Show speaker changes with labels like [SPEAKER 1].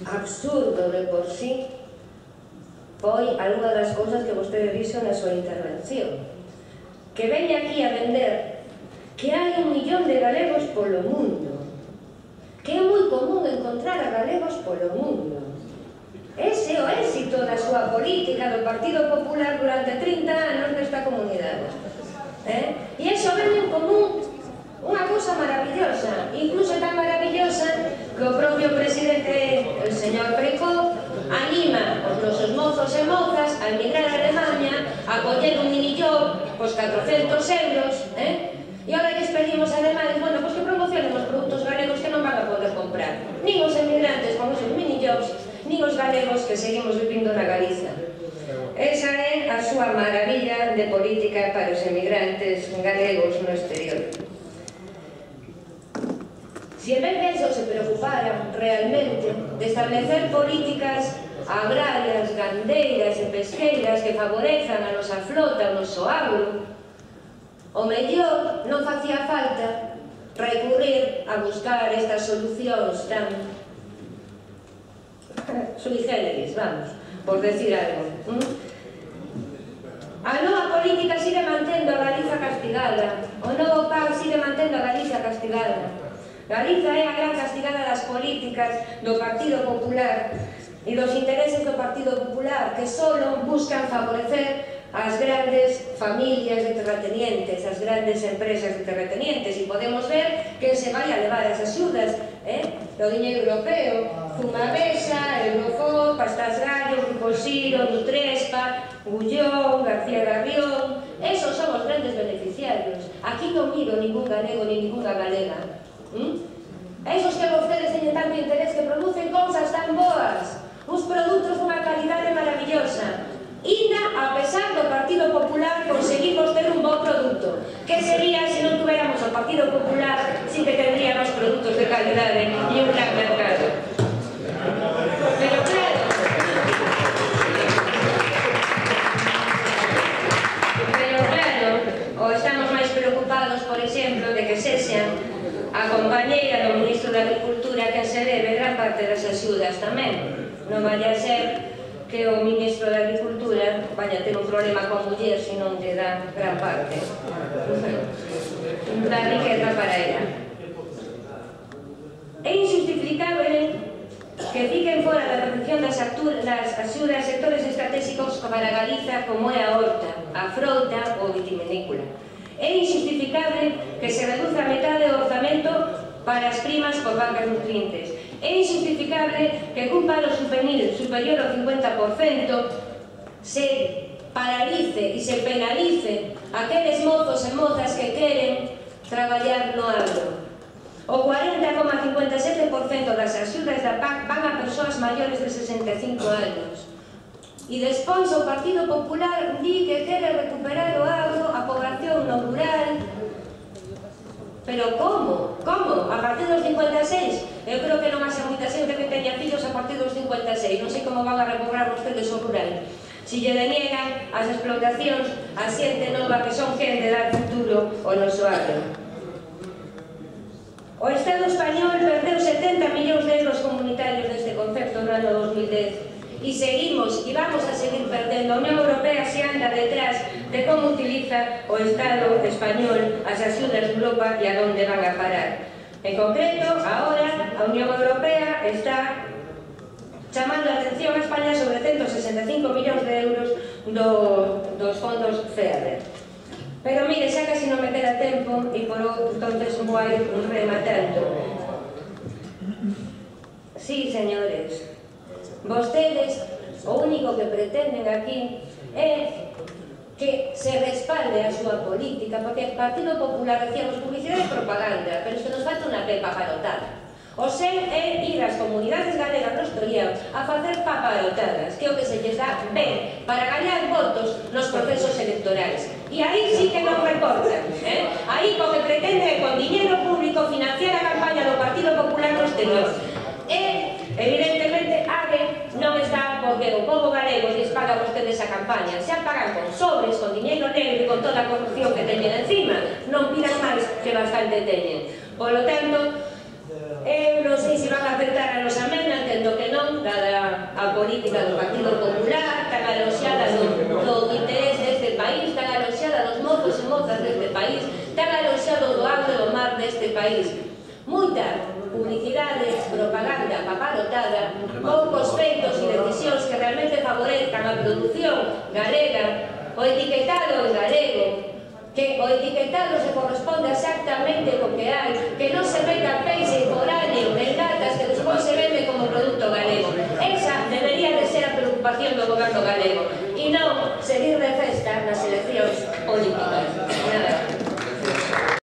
[SPEAKER 1] absurdo de por sí foi algunha das cousas que vostede dixo na súa intervención, que veña aquí a vender que hai 1 millón de galegos polo mundo, que é moi común encontrar a galegos polo mundo. Ese é o éxito da súa política do Partido Popular durante 30 anos nesta comunidade. E iso vende como unha cousa maravillosa, incluso tan maravillosa que o propio presidente, el señor Feijó, anima os nosos mozos e mozas a emigrar a Alemania, a coller un minijob, pois 400 euros, e agora que pedimos a Alemania, bueno, pois que promocionen os produtos galegos que non van a poder comprar, nin os emigrantes con os seus minijobs, nin os galegos que seguimos vivindo na Galiza. Esa é a súa maravilla de política para os emigrantes galegos no exterior. Si en vez de eso se preocuparan realmente de establecer políticas agrarias, gandeiras e pesqueiras que favorezan a nosa flota, o noso agro, o mellor non facía falta recurrir a buscar estas solucións tan sui generis, vamos, por decir algo. A nova política sigue mantendo a Galiza castigada, o novo PAC sigue mantendo a Galiza castigada. Galiza é a gran castigada das políticas do Partido Popular e dos intereses do Partido Popular que só buscan favorecer as grandes familias de terratenientes, as grandes empresas de terratenientes, e podemos ver que se vai a levar as axudas do diñeiro europeo, Zumabesa, Eurofond, Pastas Gallo, Grupo Siro, Nutrespa, Gullón, García Garrión. Esos son os grandes beneficiarios. Aquí non miro ningún galego ni ninguna galega. Esos que vostedes teñen tanto interés, que producen cousas tan boas, uns produtos dunha calidade maravillosa. Inda, a pesar do Partido Popular, conseguimos ter un bo produto. Que sería se non tuviéramos o Partido Popular, sin que tendríamos produtos de calidade e un gran mercado? Pero claro, o estamos máis preocupados, por exemplo, de que sexan a compañeira do Ministro de Agricultura que se debe gran parte das axudas tamén. Non vaya a ser que o Ministro de Agricultura vaya a ter un problema con muller se non lle dá gran parte da riqueza para ela. É injustificable que fiquen fora da protección das axudas sectores estratégicos para Galiza como é a horta, a frouta ou vitivinícola. É injustificable que se reduza a metade do orzamento para as primas por bancas nutrientes. É injustificable que cun paro superior ao 50% se paralice e se penalice aqueles mozos e mozas que queren traballar no agro. O 40,57% das axudas da PAC van a persoas maiores de 65 anos. E despois o Partido Popular di que quere recuperar o agro, a poboación no rural. Pero como? Como? A partir dos 56? Eu creo que non haxa moita xente que teña fillos a partir dos 56. Non sei como van a recobrar vostedes o rural. Si lle deniegan as explotacións a xente nova que son quen de dar futuro ao noso agro. O Estado español perdeu 70 millóns de euros comunitarios deste concepto no ano 2010. E seguimos, e vamos a seguir perdendo. A Unión Europea se anda detrás de como utiliza o Estado español as axudas de Europa e a onde van a parar. En concreto, agora a Unión Europea está chamando a atención a España sobre 165 millóns de euros dos fondos FEADER. Pero mire, xa casi non me queda tempo e por entonces vou rematando. Sí, señores, vostedes o único que pretenden aquí é que se respalde a súa política, porque o Partido Popular decíamos publicidade e propaganda, pero es que nos falta unha pepa parotada. O seu é ir ás comunidades galegas no Estoriao a facer paparotadas, que é o que se lles dá ben para gañar votos nos procesos electorais. E aí sí que non recortan. Aí o que pretende é con diñeiro público financiar a campaña do Partido Popular no exterior. E, evidentemente, AGE non está porque o povo galego lles paga a vostedes a campaña. Xa pagan con sobres, con diñeiro negro e con toda a corrupción que teñen encima. Non pidan máis que bastante teñen. Por lo tanto, eu non sei se van a aceptar a nosa emenda, entendo que non, a política do Partido Popular, tan aloxada do interés deste país, tan aloxada dos mozos e mozas deste país, tan aloxado do agro e do mar deste país. Moita publicidade, propaganda paparotada, poucos feitos e decisións que realmente favorezcan a produción galega, o etiquetado en galego, que o etiquetado se corresponde exactamente co que hai, que non se meta peixe foráneo en latas que despois se vende como producto galego. Esa debería de ser a preocupación do goberno galego e non seguir de festa nas eleccións políticas. Nada.